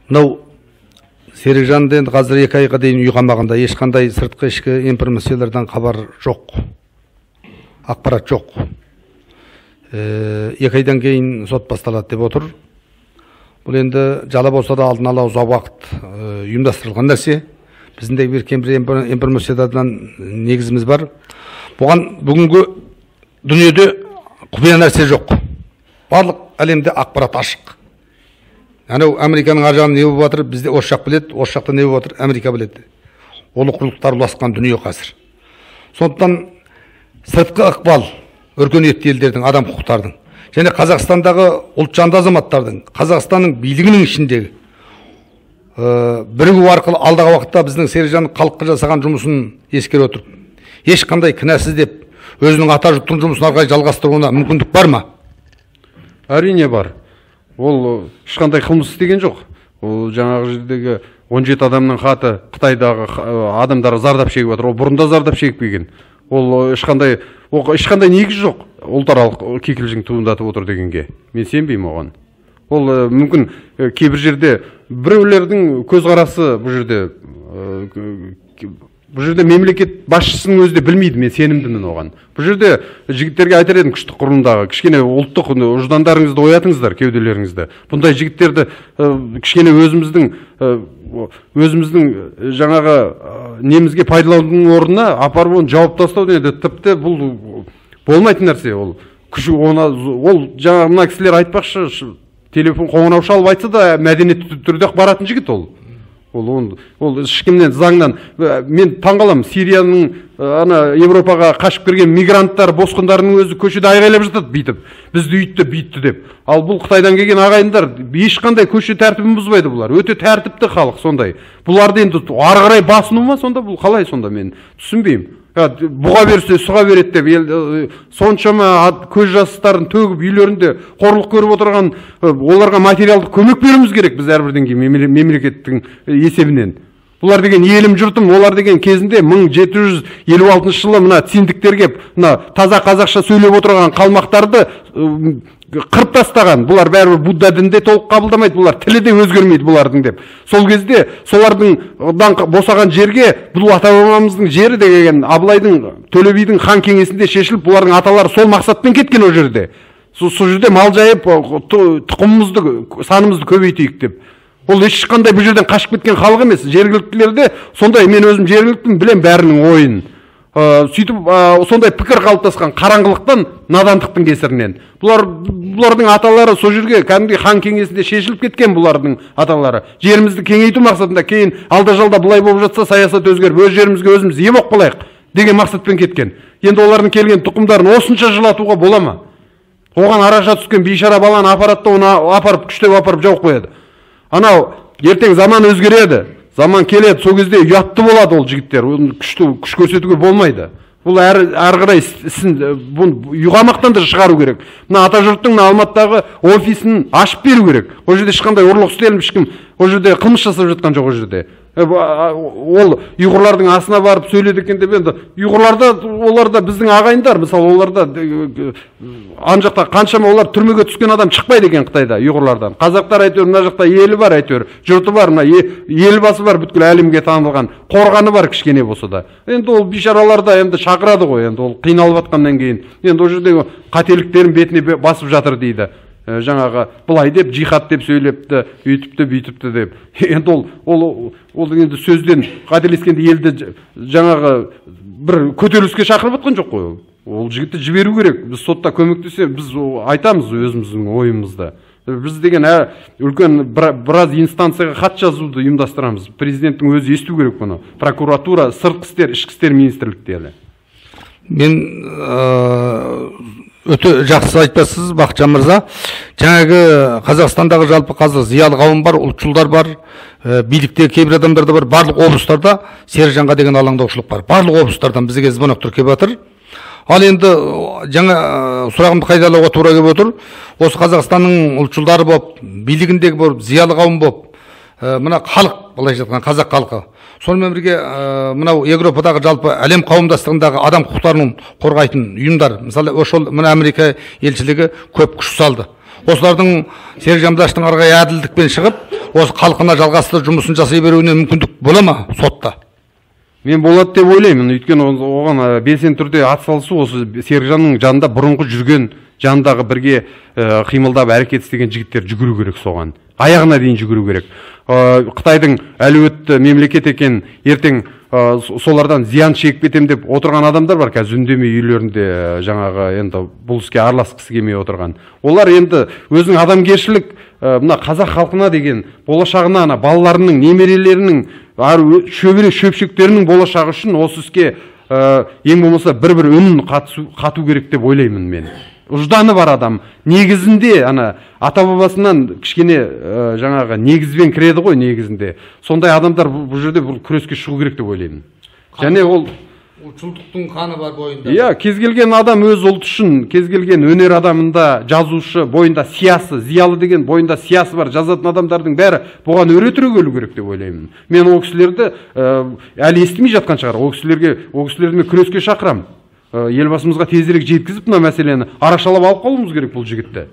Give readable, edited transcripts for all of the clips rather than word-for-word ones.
Мынау Серікжанды енді қазір 2 айға дейін үй қамағында, ешқандай сыртқы ішкі информациялардан хабар жоқ, ақпарат жоқ. 2 айдан кейін сот басталады деп отыр. Бұл енді жала болса да алдын ала ұзақ уақыт ұйымдастырылған нәрсе. Біздің де бір кембір информациядан негізіміз бар. Бұған бүгінгі дүниеде құпия нәрсе жоқ. Барлық әлемде ақпарат ашық. Анау Американың ар жағында не болып жатыр, бізде осы жақ біледі, осы жақта не болып жатыр, Америка біледі. Олы құрлықтар ұласқан дүние қазір. Сондықтан сыртқы ықпал өркениетті елдердің, адам құқықтардың және Қазақстандағы ұлтжанды азаматтардың, Қазақстанның билігінің ішіндегі бірігу арқылы алдағы уақытта біздің Серікжанның халыққа жасаған жұмысын ескере отырып, ешқандай кінәсіз деп өзінің ата жұрттың жұмысын ары қарай жалғастыруына мүмкіндік бар ма? Әрине бар. Ол ешқандай қылмыс істеген жоқ. Ол жаңағы жердегі 17 адамның хаты Қытайдағы адамдар зардап шегіп отыр. Ол бұрында зардап шегіп келген. Ол ешқандай негіз жоқ. Ұлтаралық кикілжің туындатып отыр дегенге. Мен сенбеймін оған. Ол мүмкін кейбір жерде біреулердің көзқарасы бұл жерде мемлекет басшысының өзі де білмейді, мен сенімдімін оған. Бұл жерде жігіттерге айтар едім, күштік құрылымдағы кішкене ұлттық ұждандарыңызды оятыңыздар, кеуделеріңізді. Бұндай жігіттерді кішкене өзіміздің жаңағы немізге пайдаланудың орнына апарып оны жауып тастау деді. Тіпті бұл болмайтын нәрсе. Ол жаңағы мына кісілер айтпақшы, телефон қоңырау шалып айтса да мәдениетті түрде баратын жігіт ол. Ол ешкімнен заңнан. Мен таңғаламын, Сирияның Европаға қашып кірген мигранттар, босқындарының өзі көшеде айғайлап жатады, бүйтіп. Бізді үйтті, бүйтті деп. Ал бұл Қытайдан келген ағайындар ешқандай көше тәртібін бұзбайды бұлар. Өте тәртіпті халық сондай. Бұларды енді ары қарай басыну ма сонда? Бұл қалай сонда, мен түсінбеймін. Бұға берсе сұға береді деп, соншама көз жастарын төгіп үйлерінде қорлық көріп отырған оларға материалдық көмек беруіміз керек біз әрбірден кейін мемлекеттің есебінен. Бұлар деген елім жұртым, олар деген кезінде 1756 жылы мына циндіктерге мына таза қазақша сөйлеп отырған қалмақтарды қырып тастаған. Бұлар бәрібір Будда дінде толық қабылдамайды, бұлар тілі де өзгермейді бұлардың деп. Сол кезде солардың босаған жерге бұл ата-бабамыздың жері деген Абылайдың, Төле бидің хан кеңесінде шешіліп, бұлардың аталары сол мақсатпен кеткен о жерде. Сол жерде мал жайып, тұқымымызды, санымызды көбейтейік деп. Ол ешқандай бұл жерден қашып кеткен халық емес. Жергіліктілерде сондай, мен өзім жергіліктің білем бәрінің ойын. Сөйтіп сондай пікір қалыптасқан қараңғылықтан, надандықтың кесірінен. Бұлардың аталары сол жерге кәдімгі хан кеңесінде шешіліп кеткен бұлардың аталары. Жерімізді кеңейту мақсатында, кейін алда-жалда бұлай болып жатса саясат өзгеріп, өз жерімізге өзіміз ие болып қалайық деген мақсатпен кеткен. Енді олардың келген тұқымдарын осынша жылатуға бола ма? Оған араша түскен бейшара баланы аппаратта оны апарып, күштеп апарып жауып қояды. Анау ертең заман өзгереді. Заман келеді, сол кезде ұятты болады ол жігіттер. Күш көрсетуге болмайды. Бұл әрі қарай ісін ұйғамақтан да шығару керек. Мына ата жұрттың Алматыдағы офисін ашып беру керек. Ол жерде ешқандай ұрлық істеліп, ешкім ол жерде қылмыс жасап жатқан жоқ ол жерде. Ол ұйғырлардың асына барып сөйледі екен деп, енді ұйғырларда оларда біздің ағайындар, мысалы оларда ан жақта қаншама олар түрмеге түскен адам шықпайды екен Қытайда ұйғырлардан. Қазақтар әйтеуір мына жақта елі бар, әйтеуір жұрты бар, мына елбасы бар, бүткіл әлемге танылған, қорғаны бар кішкене болса да. Енді ол бишараларда енді шақырады ғой, енді ол қиналып жатқаннан кейін. Енді ол жердегі қателіктерін бетіне басып жатыр дейді. Жаңағы былай деп, жихад деп сөйлепті, үйтіпті, бүйтіпті деп. Енді ол енді сөзден қателескенде елді жаңағы бір көтеріліске шақырып жатқан жоқ қой. Ол жігітті жіберу керек. Біз сотта көмектесе, біз айтамыз өзіміздің ойымызда. Біз деген үлкен біраз инстанцияға хат жазуды ұйымдастырамыз. Президенттің өзі есту керек бұны. Прокуратура, сыртқы істер, ішкі істер министрліктері. Мен өте жақсы айтпасыз, Бақытжан мырза. Жаңағы Қазақстандағы жалпы қазір зиялы қауым бар, ұлтшылдар бар, билікте кейбір адамдар да бар. Барлық облыстарда Серікжанға деген алаңдаушылық бар. Барлық облыстардан бізге звонок келіп жатыр. Ал енді жаңа сұрағымды қайталауға тура келіп отыр. Осы Қазақстанның ұлтшылдары болып, билігіндегі болып, зиялы қауым болып, мына халық, былайша айтқан қазақ халқы. Сонымен бірге мынау Европадағы жалпы әлем қауымдастығындағы адам құқықтарын қорғайтын ұйымдар, мысалы мына Америка елшілігі көп күш салды. осылардың Серік Жамдаштың арғы әділдікпен шығып, осы халқына жалғастыру жұмысын жасай беруіне мүмкіндік бола ма сотта? Мен болады деп ойлаймын. Өйткені оған белсенді түрде атсалысу осы Серікжанның жанында бұрынғы жүрген, жанындағы бірге қимылдап әрекет істеген жігіттер жүгіру керек соған. Аяғына дейін жүгіру керек. Қытайдың әлеуетті мемлекет екен, ертең солардан зиян шегіп кетем деп отырған адамдар бар, қазір үндемей үйлерінде жаңағы енді бұл іске араласқысы келмей отырған. Олар енді өзінің адамгершілік мына қазақ халқына деген болашағына, ана балаларының, немерелерінің, шөбере шөпшектерінің болашағы үшін осы іске ең болмаса бір үнін қату керек деп ойлаймын мен. Ұжданы бар адам негізінде ана ата бабасынан кішкене жаңағы негізбен кіреді ғой негізінде. Сондай адамдар бұл жерде бұл күреске шығу керек деп ойлаймын. Және ол ұлтшылдықтың қаны бар бойында. Иә, кез келген адам өз ұлты үшін, кез келген өнер адамында, жазушы бойында сиясы, зиялы деген бойында сиясы бар жазатын адамдардың бәрі бұған өре түрегелу керек деп ойлаймын. Мен ол кісілерді әлі естімей жатқан шығар. Ол кісілерді мен күреске шақырам. Елбасымызға тезірек жеткізіп мына мәселені арашалап алып қалуымыз керек бұл жігітті.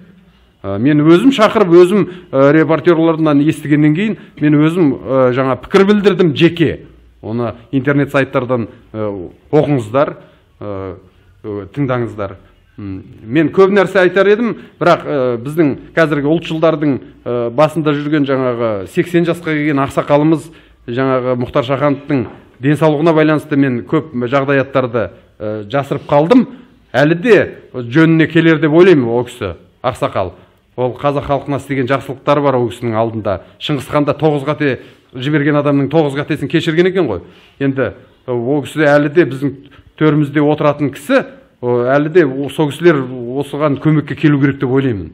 Мен өзім шақырып, өзім репортерлардан естігеннен кейін, мен өзім жаңа пікір білдірдім жеке. Оны интернет сайттардан оқыңыздар, тыңдаңыздар. Мен көп нәрсе айтар едім, бірақ біздің қазіргі ұлтшылдардың басында жүрген жаңағы 80 жасқа келген ақсақалымыз жаңағы Мұхтар Шахановтың денсаулығына байланысты мен көп жағдаяттарды жасырып қалдым. Әлі де жөніне келер деп ойлаймын ол кісі, ақсақал. Ол қазақ халқына істеген жақсылықтары бар ол кісінің алдында. Шыңғысханда 9 қате жіберген адамның 9 қатесін кешірген екен ғой. Енді ол кісі әлі де біздің төрімізде отыратын кісі, әлі де сол кісілер осыған көмекке келу керек деп ойлаймын.